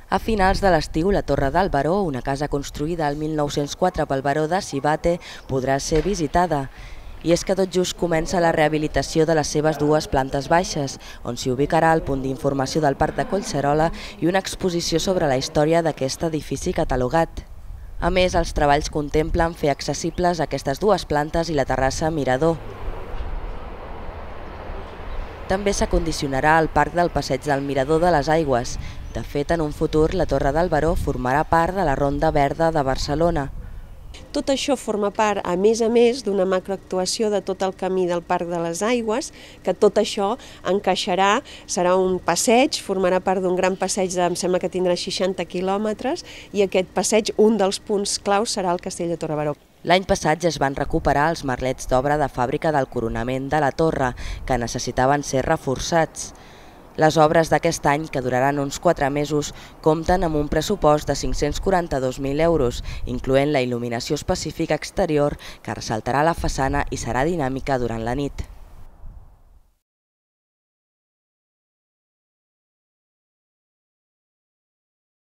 A finals de l'estiu, la Torre del Baró, una casa construïda el 1904 pel baró de Sivatte, podrà ser visitada. I és que tot just comença la rehabilitació de les seves dues plantes baixes, on s'hi ubicarà el punt d'informació del Parc de Collserola i una exposició sobre la història d'aquest edifici catalogat. A més, els treballs contemplen fer accessibles aquestes dues plantes i la terrassa mirador. També s'acondicionarà el parc del Passeig del Mirador de les Aigües. De fet, en un futur, la Torre del Baró formarà part de la Ronda Verda de Barcelona. Tot això forma part, a més, d'una macroactuació de tot el camí del Parc de les Aigües, que tot això encaixarà, serà un passeig, formarà part d'un gran passeig, em sembla que tindrà 60 quilòmetres, i aquest passeig, un dels punts claus, serà el Castell de Torre-Baró. L'any passat ja es van recuperar els merlets d'obra de fàbrica del coronament de la torre, que necessitaven ser reforçats. Les obres d'aquest any, que duraran uns 4 mesos, compten amb un pressupost de 542.000 euros, incloent la il·luminació específica exterior, que ressaltarà la façana i serà dinàmica durant la nit.